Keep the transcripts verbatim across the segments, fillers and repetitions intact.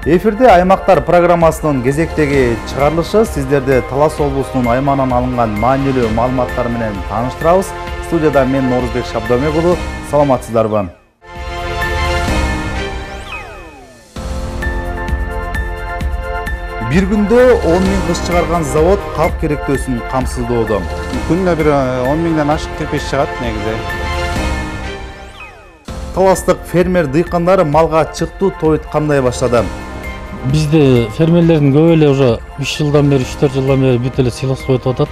Эфирде Аймактар программасынын кезектеги чыгарылышы сиздерди Талас облусунун аймагынан алынган маанилүү маалыматтар менен тааныштырабыз. Студияда мен Норузбек Шабдомек уулу. Саламатсыздарбы? Бир күндө он миң кыш чыгарган завод калк керектөөсүн камсыздоодо. Күнүнө бир он миңден ашык кирпич чыгат негизи. Таластык фермер дыйкандар малга чыктуу тойут кандай баштады? Бизде фермерлердин көп эле уже үч жылдан бери, үч төрт жылдан бери бүт эле силос коюп атат.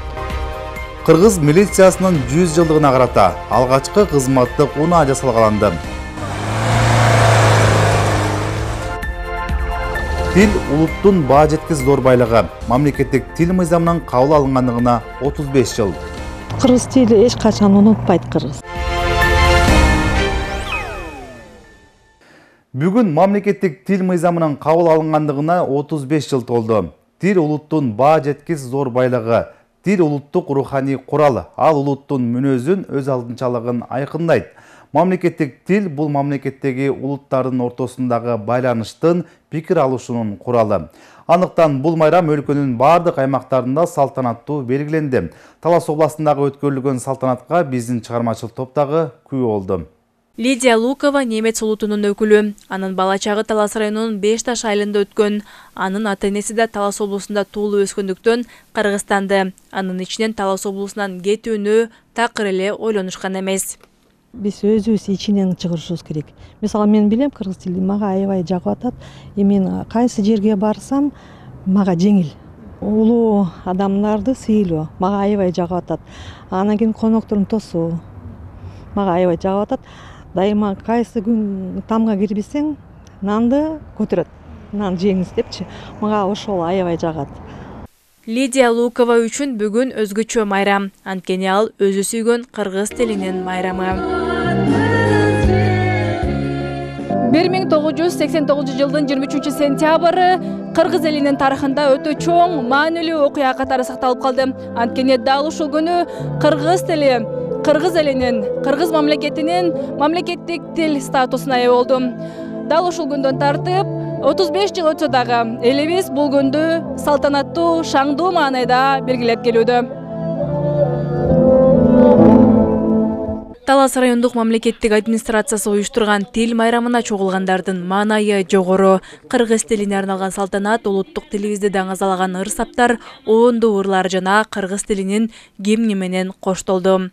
Кыргыз милициясынын жүз жылдыгына карата алгачкы кызматтык унаа жасалгаланды. Тил улуттун баа жеткис зор байлыгы. Мамлекеттик тил мыйзамынын кабыл алынгандыгына отуз беш жыл. Кыргыз тили эч качан унутпайт кыргыз. Бүгүн мамлекеттик тил мыйзамынын кабыл алынгандыгына отуз беш жыл толду. Тил улуттун баа жеткис зор байлыгы. Тил улуттук руханий курал, ал улуттун мүнөзүн, өз алдынчалыгын айкындайт. Мамлекеттик тил бул мамлекеттеги улуттардын ортосундагы байланыштын, пикир алышуунун куралы. Андыктан бул майрам өлкөнүн бардык аймактарында салтанаттуу белгиленди. Талас областындагы өткөрүлгөн салтанатка биздин чыгармачыл топтогу күбө болду. Лидия Лукова немец улутунун өкүлү. Анын бала чагы Талас районунун Беш Таш айылында өткөн. Анын ата-энеси да Талас облусунда туулуп өскөндүктөн Кыргызстанды. Анын ичинен Талас облусунан кетүүнү такыр эле ойлонушкан эмес. Биз өзүбүз ичинен чыгарышыбыз керек. Мисалы мен билем кыргыз тилин мага аябай жагып атат. Мен кайсы жерге барсам мага жеңил. Улуу адамдарды сыйлоо мага аябай жагып атат. Анан кийин коноктордун тосуу мага аябай жагып атат. Дайыма кайсы күн тамга кирбесең, нанды көтөрөт. Нан жеңиз депчи. Мага ошол аябай жагат. Лидия Лукова үчүн бүгүн өзгөчө майрам. Анткени ал өзү сүйгөн кыргыз тилинин майрамы. бир миң тогуз жүз сексен тогузунчу жылдын жыйырма үчүнчү сентябры кыргыз элинин тарыхында өтө чоң, маанилүү окуя катары сакталып калды. Анткени дал ушул күнү кыргыз тили кыргыз элинин, кыргыз мамлекетинин мамлекеттик тил статусуна ээ болду. Дал ушул күндөн тартып отуз беш жыл өтсө дагы элибиз бул күндү салтанаттуу, шаңдуу маанайда белгилеп келүүдө. Талас райондук мамлекеттик администрациясы уюштурган тил майрамына чогулгандардын маанайы жогору. Кыргыз тилине арналган салтанат, улуттук тилибизди даңазалаган ыр-саптар, оонду ырлар жана кыргыз тилинин гимни менен коштолду.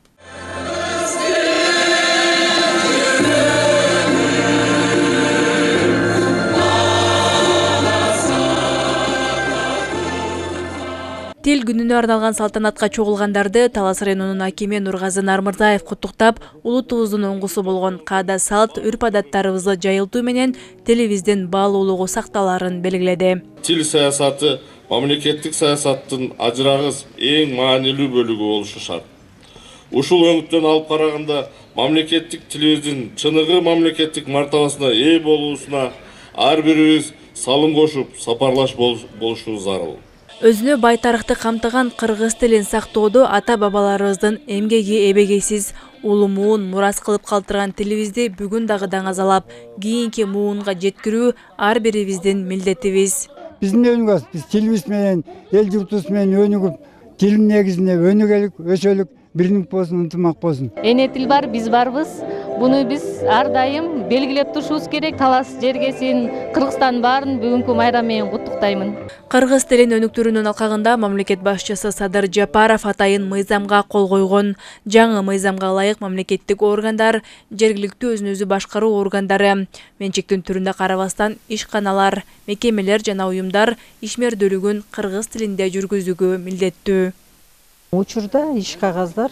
Тил күнүнө арналган салтанатка чогулгандарды Талас районунун акими Нургазы Нармырзаев куттуктап, улутубуздун оңгусу болгон каада салт, үрп-адаттарыбызды жайылтуу менен тилибиздин баалуулугу сакталарын белгиледи. Тил саясаты мамлекеттик саясаттын ажырагыс эң маанилүү бөлүгү болушу шарт. Ушул өңүттөн алып караганда мамлекеттик тилибиздин чыныгы мамлекеттик мартабасына ээ болуусуна ар бирибиз салым кошуп, сапарлаш болушубуз зарыл. Өзүнө бай тарыхты камтыган кыргыз тилин сактоодо ата-бабаларыбыздын эмгеги эбегейсиз, улумуун мурас кылып калтырган тилибизди бүгүн дагы даңазалап, кийинки муунга жеткирүү ар бирибиздин милдетибиз. Биздин өнүгөбүз, биз тилибиз менен, эл журтубуз менен өнүгүп, тилдин негизинде өнүгөлүк, өсөлүк, бириндик болсун, ынтымак болсун. Эне тил бар, биз барбыз. Буну биз ар дайым белгилеп турушубуз керек. Талас жергесин, Кыргызстан баарын бүгүнкү майрам менен куттуктаймын. Кыргыз тилин өнүктүрүүнүн алкагында мамлекет башчысы Садыр Жапаров атайын мыйзамга кол койгон. Жаңы мыйзамга ылайык мамлекеттик органдар, жергиликтүү өзүн өзү башкаруу органдары, менчиктин түрүнө карабастан ишканалар, мекемелер жана уюмдар ишмердүүлүгүн кыргыз тилинде жүргүзүүгө милдеттүү. Учурда иш кагаздар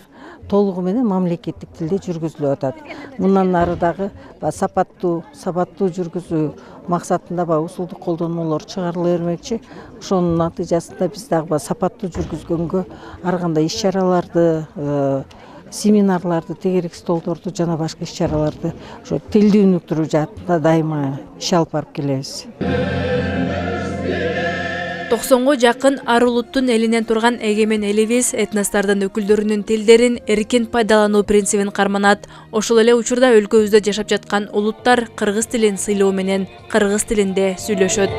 толугу менен мамлекеттик тилде жүргүзүлүп атат. Мындан ары дагы сапаттуу, сабаттуу жүргүзүү максатында ба усулдук колдонмолор чыгарыла бермекчи. Ошонун натыйжасында биз дагы сапаттуу жүргүзгөнгө ар кандай иш-чараларды, семинарларды, тегерек столдорду жана башка иш-чараларды ошо тилди өнүктүрүү жаатында дайыма иш алып барып келебиз. токсонго жакын ар улуттун элинен турган эгемен элибиз этностордун өкүлдөрүнүн тилдерин эркин пайдалануу принцибин карманат. Ошол эле учурда өлкөбүздө жашап жаткан улуттар кыргыз тилин сыйлоо менен кыргыз тилинде сүйлөшөт.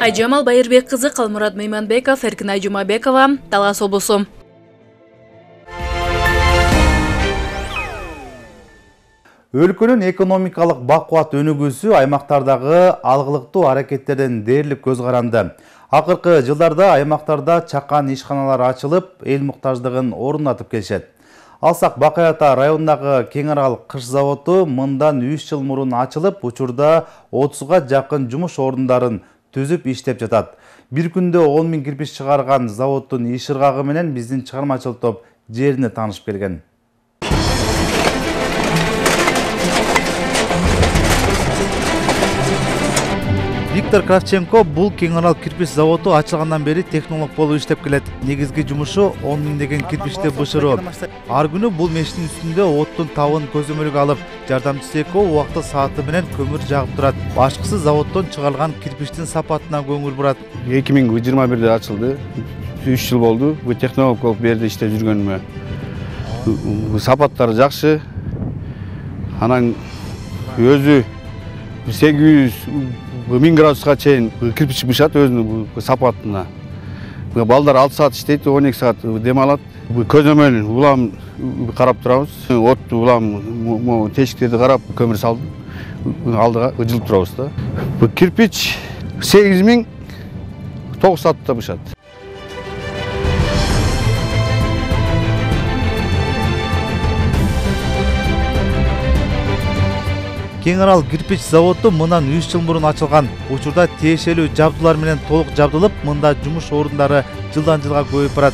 Айжамал Байырбек кызы, Калмурат Мейманбеков, Эркинай Жумабекова, Талас облусу. Өлкөнүн экономикалык бакубат өнүгүүсү аймактардагы алгылыктуу аракеттерден дээрлик көз каранды. Акыркы жылдарда аймактарда чакан ишканалар ачылып, эл муктаждыгын орнатып келишет. Алсак Бакай Ата районундагы Кең Арал кыш заводу мындан үч жыл мурун ачылып, учурда отузга жакын жумуш орундарын түзүп иштеп жатат. Бир күндө он миң кирпич чыгарган заводдун иш ыргагы менен биздин чыгармачыл топ жерине таанышып келген. Виктор Кравченко бул Кең Арал кирпич заводу ачылгандан бери технолог болуп иштеп келет. Негизги жумушу он миңдеген кирпичти бышыруу. Ар күнү бул мештин үстүндө оттун табын көзөмөлгө алып, жардамчысы экөө убакта сааты менен көмүр жагып турат. Башкысы заводдон чыгарылган кирпичтин сапатына көңүл бурат. эки миң жыйырма бирде ачылды. үч жыл болду. Бу технолог болуп берди иштеп жүргөнүмө. Сапаттары жакшы. Анан өзү сегиз жүз миң градуска чейин кирпич бышат өзүнүн сапатына. Балдар алты саат иштейт, он эки саат дем алат. Көзөмөл улам карап турабыз. Отту улам тешиктерди карап көмүр салдым. Алдыга жылып турабыз да. Бу кирпич сегиз миң тогуз саатта бышат. Кең Арал кирпич заводу мындан үч жыл мурун ачылган. Учурда тиешелүү жабдуулар менен толук жабдылып, мында жумуш орундары жылдан жылга көбөйүп барат.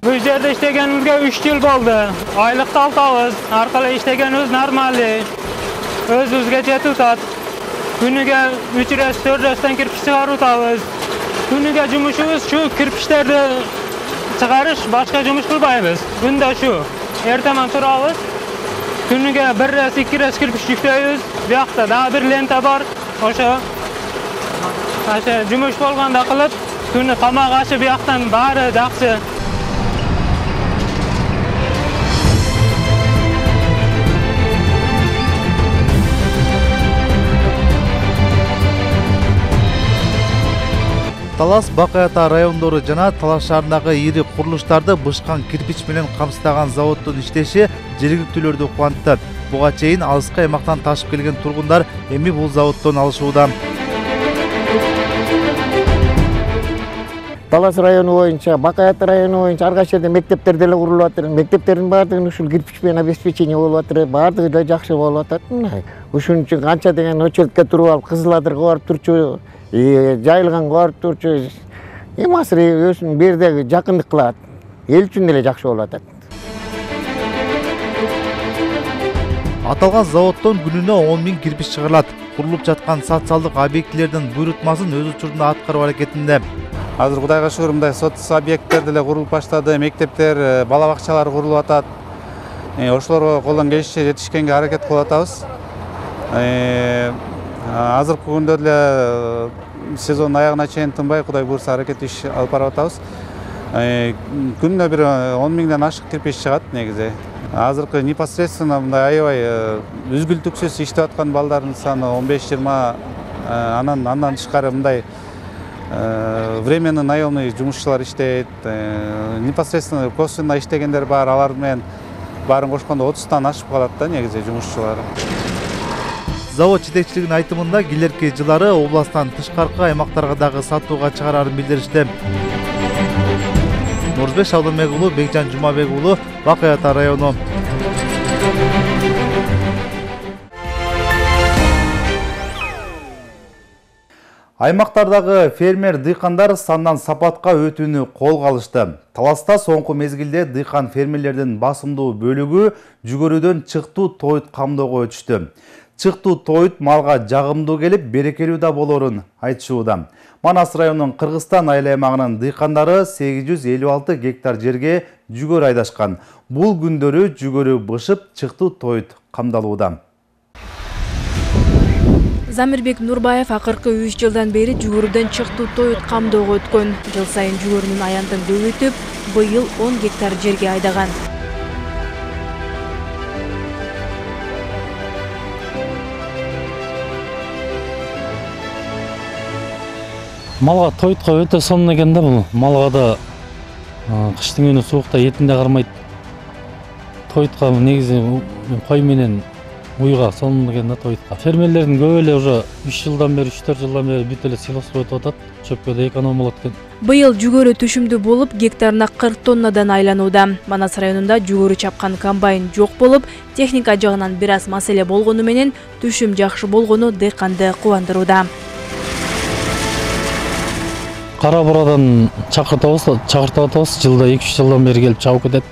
Бул жерде иштегенимизге үч жыл болду. Айлыкты алабыз. Аркылуу иштегенибиз нормалдуу. Өзүбүзгө жетип атат. Күнүгө үч рет төрт реттен кирпич чыгарып атабыз. Күнүгө жумушубуз шу кирпичтерди чыгарыш, башка жумуш кылбайбыз. Күндө шу. Эртемен турабыз. Күнүгө бир рет, эки рет кирпич жүктөйбүз. Биякта дагы бир лента бар. Ошо. Ошо жумуш болгондо кылып, күнү тамак ашы бияктан баары жакшы. Талас Бакай Ата райондору жана Талас шаарындагы ири курулуштарды бышкан кирпич менен камсыздаган заводдун иштеши жергиликтүүлөрдү кубантты. Буга чейин алыскы аймактан ташып келген тургундар эми бул заводдон алышууда. Талас району боюнча, Бакай Ата району боюнча ар кайсы жерде мектептер деле курулуп атат. Мектептердин баардыгын ушул кирпич менен обеспечение болуп атат. Баардыгы да жакшы болуп атат. Ушун үчүн канча деген очередке туруп алып, Кызыл Адырга барып турчу, жайылганга барып турчу. Эми азыр өзүнүн бердеги жакындык кылат. Эл үчүн деле жакшы болуп атат. Аталган заводдон күнүнө он миң кирпич чыгарылат. Курулуп жаткан социалдык объектилердин буйрутмасын өз учурунда аткаруу аракетинде. Азыр Кудайга шүгүр, мындай социалдык объекттер деле курулуп баштады, мектептер, бала бакчалар курулуп атат. Ошолорго колдон келишинче жетишкенге аракет кылып атабыз. Азыркы күндө деле сезондун аягына чейин тынбай, Кудай буйрса, аракет иш алып барып атабыз. Күнүнө бир он миңден ашык кирпич чыгат негизи. Азыркы непосредственно мындай аябай үзгүлтүксүз иштеп аткан балдардын саны он беш жыйырма, анан андан тышкары мындай временный наемный жумушчулар иштейт. Непосредственно косвенно иштегендер бар, алар менен баарын кошкондо отуздан ашып калат да негизи жумушчулар. Завод жетекчилигинин айтымында келерки жылдары областтан тышкаркы аймактарга дагы сатууга чыгарарын билдиришти. Нурбек Шабдамек уулу, Бекжан Жумабек уулу, Бакай Ата району. Аймактардагы фермер дыйкандар сандан сапатка өтүүнү колго алышты. Таласта соңку мезгилде дыйкан фермерлердин басымдуу бөлүгү жүгөрүдөн чыктуу тоют камдоого өтүштү. Чыктуу тоют малга жагымдуу келип, берекелүү да болорун айтышууда. Манас районунун Кыргызстан айыл аймагынын дыйкандары сегиз жүз элүү алты гектар жерге жүгөрү айдашкан. Бул күндөрү жүгөрү бышып, чыктуу тоют камдалууда. Замирбек Нурбаев акыркы үч жылдан бери жүгөрүдөн чыктуу тоют камдөөгө өткөн. Жыл сайын жүгөрүнүн аянтын көбөйтүп, быйыл он гектар жерге айдаган. Малга тоютка өтө сонун экен да бул. Малга да кыштын күнү суукта этин да кармайт. Тоютка негизи кой менен уйга сонун экен да тоютка. Фермерлердин көбү эле уже үч жылдан бери, үч төрт жылдан бери бүт эле силоско өтүп атат. Чөпкө да эконом болот экен. Быйыл жүгөрү түшүмдүү болуп, гектарына кырк тоннадан айланууда. Манас районунда жүгөрү чапкан комбайн жок болуп, техника жагынан бир аз маселе болгону менен түшүм жакшы болгону дыйканды кубандырууда. Кара бурадан чакыртабыз, чакыртып атабыз. Жылда эки үч жылдан бери келип чабып кетет.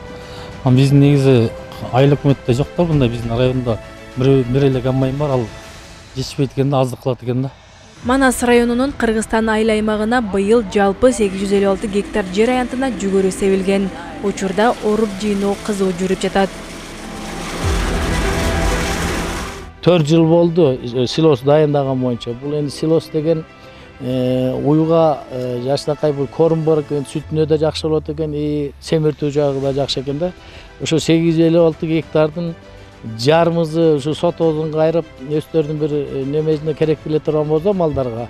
Биздин негизи айлык өмөттө жок да, мындай биздин районда бир бир эле комбайн бар, ал жетишпейт экен да, аздык кылат экен да. Манас районунун Кыргызстан айыл аймагына быйыл жалпы сегиз жүз элүү алты гектар жер аянтына жүгөрү себилген. Учурда оруп жыйноо кызуу жүрүп жатат. төрт жыл болду силос дайындаган боюнча. Бул энди силос деген уйга жаштакай бул корм бар экен, сүтүнө да жакшы болот экен, семиртүү жагы да жакшы экен да. Ошо сегиз жүз элүү алты гектардын жарымызы ушу сотоодон кайрып, өздөрүнүн бир немесине керек келе турган болсо малдарга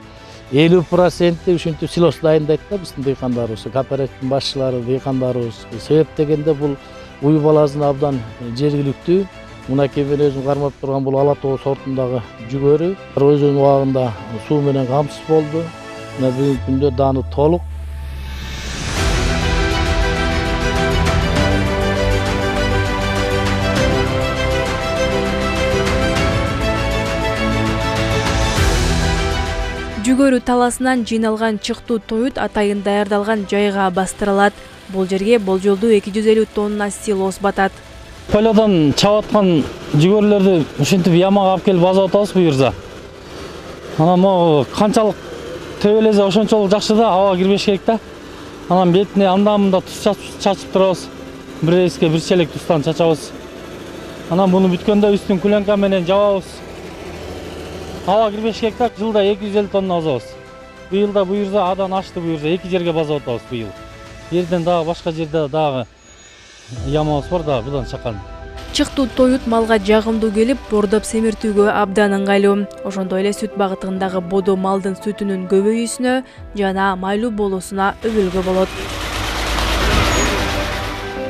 элүү проценти ушинтип силос дайындайт да биздин дыйкандарыбыз, кооперативдин башчылары, дыйкандарыбыз. Себеп дегенде бул уй баласына абдан жергиликтүү. Мынакей мен өзүм кармап турган бул ала тоо сортундагы жүгөрү өзүнүн убагында суу менен камсыз болду. Мына бүгүнкү күндө даны толук. Жүгөрү таласынан жыйналган чыктуу тоют атайын даярдалган жайга бастырылат. Бул жерге болжолдуу эки жүз элүү тонна силос батат. Полодон чабаткан жүгөрлөрдү ушинтип ямага алып келип базап атабыз буюрса. Анан могу канчалык төбөлесе ошончолук жакшы да, аба кирбеш керек да. Анан бетине анда-мында туз чачып турабыз. Бир эске бир челек туздан чачабыз. Анан буну бүткөндө үстүн куленка менен жабабыз. Аба кирбеш керек да, жылда эки жүз элүү тонна базабыз. Быйыл да буюрса адан ашты, буюрса эки жерге базап атабыз быйыл. Жерден дагы башка жерде дагы ямабыз бар да, будан чакан. Чыктуу тоют малга жагымдуу келип, бордоп семиртүүгө абдан ыңгайлуу. Ошондой эле сүт багытындагы бодо малдын сүтүнүн көбөйүүсүнө жана майлуу болуусуна өбөлгө болот.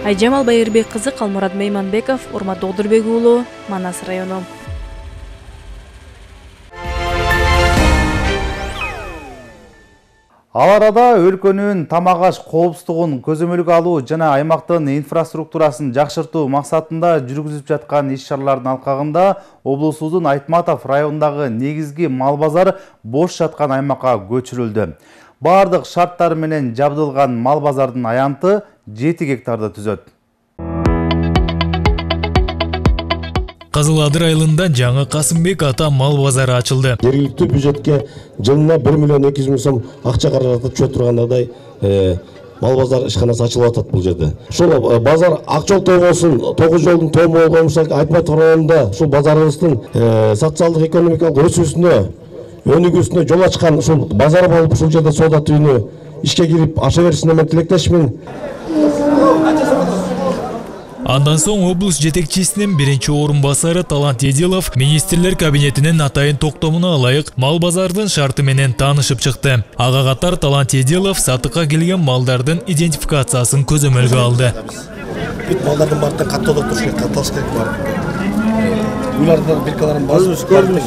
Айжамал Байырбек кызы, Калмурат Мейманбеков, Урмат Догдурбек уулу, Манас району. Ал арада өлкөнүн тамак аш коопсуздугун көзөмөлгө алуу жана аймактын инфраструктурасын жакшыртуу максатында жүргүзүлүп жаткан иш-чаралардын алкагында облусубуздун Айтматов районундагы негизги мал базар бош жаткан аймакка көчүрүлдү. Бардык шарттар менен жабдылган мал базардын аянты жети гектарды түзөт. Кызыл Адыр айылында жаңы Касымбек ата мал базары ачылды. Жергиликтүү бюджетке жылына бир миллион эки жүз миң сом акча каражаты түшө тургандай мал базар ишканасы ачылып атат бул жерде. Ушул базар ак жол тогосун, тогуз жолдун тому болгон Айтматов районунда ушул базарыбыздын социалдык экономикалык өсүүсүнө, өнүгүүсүнө жол ачкан ушул базар болуп, ушул жерде соода түйүнү ишке кирип аша беришине мен тилектешмин. Андан соң облус жетекчисинин биринчи орун басары Талант Эдилов министрлер кабинетинин атайын токтомуна ылайык мал базардын шарты менен таанышып чыкты. Ага катар Талант Эдилов сатыкка келген малдардын идентификациясын көзөмөлгө алды. Бүт малдардын бардыгын каттоодо туруш керек, катталыш керек бар. Булардын биркаларын басып, көрүнүш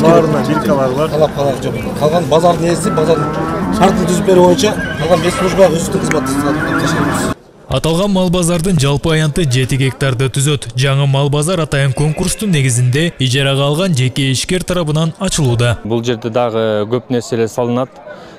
баарына биркалар бар. Калап калар жок. Калган базардын ээси, базардын шартын түзүп берүү боюнча калган беш служба өздүк кызматын. Аталган мал базардын жалпы аянты жети гектарды түзөт. Жаңы мал базар атайын конкурстун негизинде ижарага алган жеке ишкер тарабынан ачылууда. Бул жерде дагы көп нерселер салынат.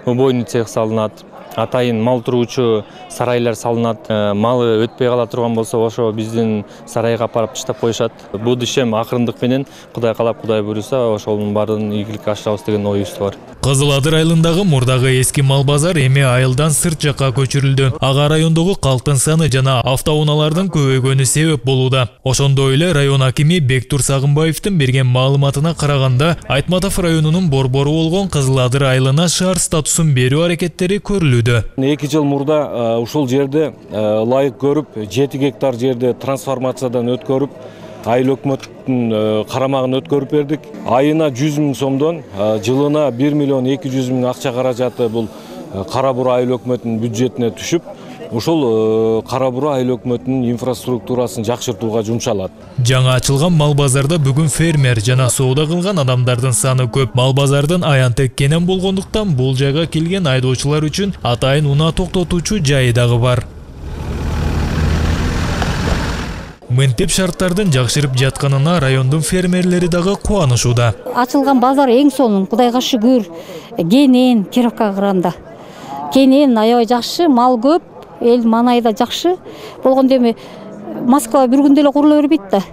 Убойный цех салынат. атайын мал туруучу сарайлар салынат. Малы өтпөй кала турган болсо ошо биздин сарайга апарып таштап коюшат. Бул ишем акырындык менен Кудай каалап Кудай буйруса ошонун баарын ийгиликке ашырабыз деген оюбуз бар. Кызыл Адыр айылындагы мурдагы эски мал базар эми айылдан сырт жакка көчүрүлдү. Ага райондогу калктын саны жана автоунаалардын көбөйгөнү себеп болууда. Ошондой эле район акими Бектур Сагынбаевдин берген маалыматына караганда, Айтматов районунун борбору болгон Кызыл Адыр айылына шаар статусун берүү аракеттери көрүлүүдө. эки жыл мурда ушул жерде ылайык көрүп, жети гектар жерде трансформациядан өткөрүп, айыл өкмөттүн карамагын өткөрүп бердик. Айына жүз миң сомдон жылына бир миллион эки жүз миң акча каражаты бул Кара Бура айыл өкмөтүнүн бюджетине түшүп, ушул Кара Бура айыл өкмөтүнүн инфраструктурасын жакшыртууга жумшалат. Жаңа ачылган мал базарда бүгүн фермер жана соода кылган адамдардын саны көп. Мал базардын аянтек кенен болгондуктан бул жайга келген айдоочулар үчүн атайын унаа токтотуучу жайы дагы бар. Мынтип шарттардын жакшырып жатканына райондун фермерлери дагы кубанышууда. Ачылган базар эң сонун, Кудайга шүгүр. Кенен Кировкага караганда. Кенен аябай жакшы, мал көп, эл маанайда жакшы. Болгондо эми Москва бир күндө эле курула бербейт да.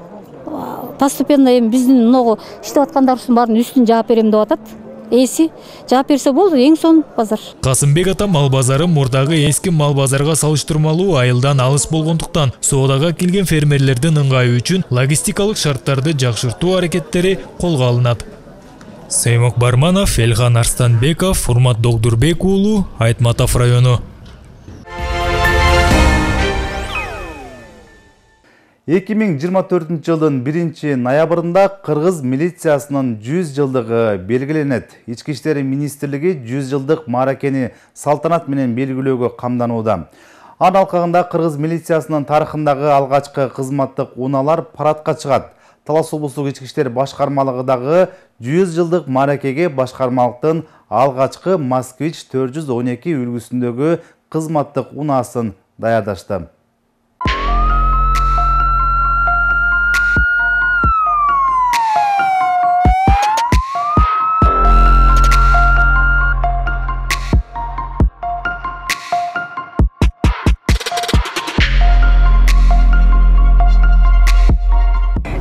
Постепенно эми биздин мынагу иштеп аткандарыбыздын баарын үстүн жаап берем деп атат. Эси жаап берсе болду, эң сонун базар. Касымбек ата мал базары мурдагы эски мал базарга салыштырмалуу айылдан алыс болгондуктан соодага келген фермерлердин ыңгайы үчүн логистикалык шарттарды жакшыртуу аракеттери колго алынат. Сеймок Барманов, Элхан Арстанбеков, Урмат Догдурбек уулу, Айтматов району. эки миң жыйырма төртүнчү жылдын биринчи ноябрында Кыргыз милициясынын жүз жылдыгы белгиленет. Ички иштер министрлиги жүз жылдык мааракени салтанат менен белгилөөгө камданууда. Анын алкагында Кыргыз милициясынын тарыхындагы алгачкы кызматтык унаалар парадка чыгат. Талас облустук ички иштер башкармалыгындагы жүз жылдык мааракеге башкармалыктын алгачкы Москвич төрт жүз он эки үлгүсүндөгү кызматтык унаасын даярдашты.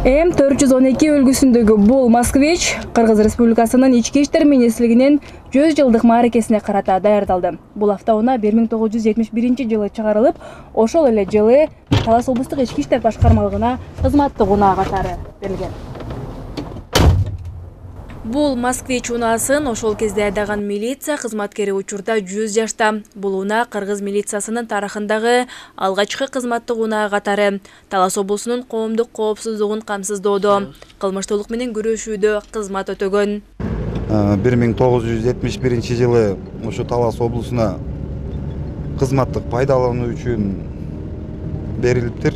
М төрт жүз он эки үлгүсүндөгү бул Москвич Кыргыз Республикасынын ички иштер министрлигинин жүз жылдык мааракесине карата даярдалды. Бул автоунаа бир миң тогуз жүз жетимиш биринчи жылы чыгарылып, ошол эле жылы Талас облустук ички иштер башкармалыгына кызматтык унаа катары берилген. Бул Москвич унаасын ошол кезде айдаган милиция кызматкери учурда жүз жашта. Бул унаа Кыргыз милициясынын тарыхындагы алгачкы кызматтык унаа катары Талас облусунун коомдук коопсуздугун камсыздоодо, кылмыштуулук менен күрөшүүдө кызмат өтөгөн. бир миң тогуз жүз жетимиш биринчи жылы ушу Талас облусуна кызматтык пайдалануу үчүн берилиптир.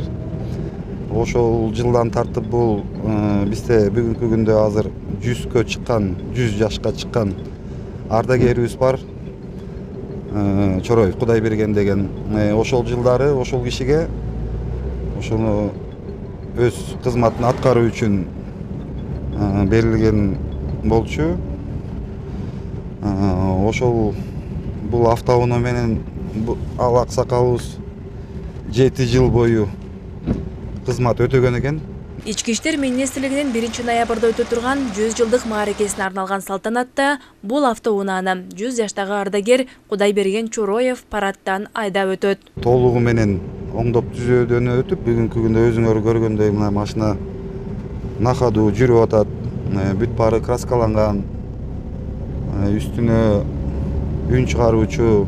Ошол жылдан тартып бул бизде бүгүнкү күндө азыр жүзгө чыккан, жүз жашка чыккан ардагерибиз бар. Чороев Кудайберген деген. Ошол жылдары ошол кишиге ошону өз кызматын аткаруу үчүн берилген болчу. Ошол бул автоунаа менен ал аксакалыбыз жети жыл бою кызмат өтөгөн экен. Ички иштер министрлигинин биринчи ноябрда өтө турган жүз жылдык мааракесине арналган салтанатта бул автоунааны жүз жаштагы ардагер Кудайберген Чороев парадтан айдап өтөт. Толугу менен оңдоп түзөөдөн өтүп, бүгүнкү күндө өзүңөр көргөндөй мына машина нахадуу жүрүп атат. Бүт баары краскаланган. Үстүнө үн чыгаруучу,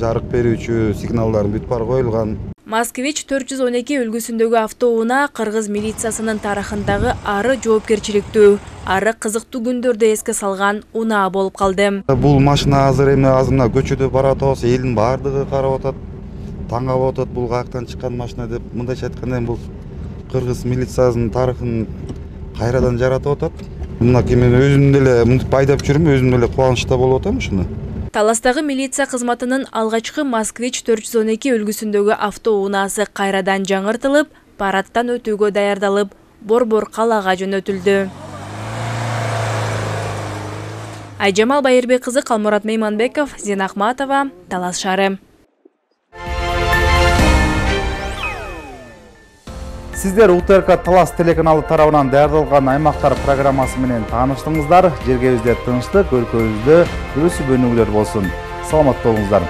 жарык берүүчү сигналдар бүт баары коюлган. Москвич төрт жүз он эки үлгүсүндөгү автоунаа Кыргыз милициясынын тарыхындагы ары жоопкерчиликтүү, ары кызыктуу күндөрдү эске салган унаа болуп калды. Бул машина азыр эми азыр мына көчөдө барып атабыз, элдин баардыгы карап атат, таң калып атат бул каяктан чыккан машина деп. Мындайча айтканда бул Кыргыз милициясынын тарыхын кайрадан жаратып атат. Мынакей мен өзүм деле мынтип айдап жүрүм, өзүм деле кубанычта болуп атам ушуну. Таластагы милиция кызматынын алгачкы Москвич төрт жүз он эки үлгүсүндөгү автоунаасы кайрадан жаңыртылып, парадтан өтүүгө даярдалып, борбор калаага жөнөтүлдү. Айжамал Байырбек кызы, Калмурат Мейманбеков, Зина Ахматова, Талас шаары. Сиздер У Т Р К Талас телеканалы тарабынан даярдалган аймактар программасы менен тааныштыңыздар. Жергебизде тынчтык, өлкөбүздө өсүп өнүгүүлөр болсун. Саламат болуңуздар.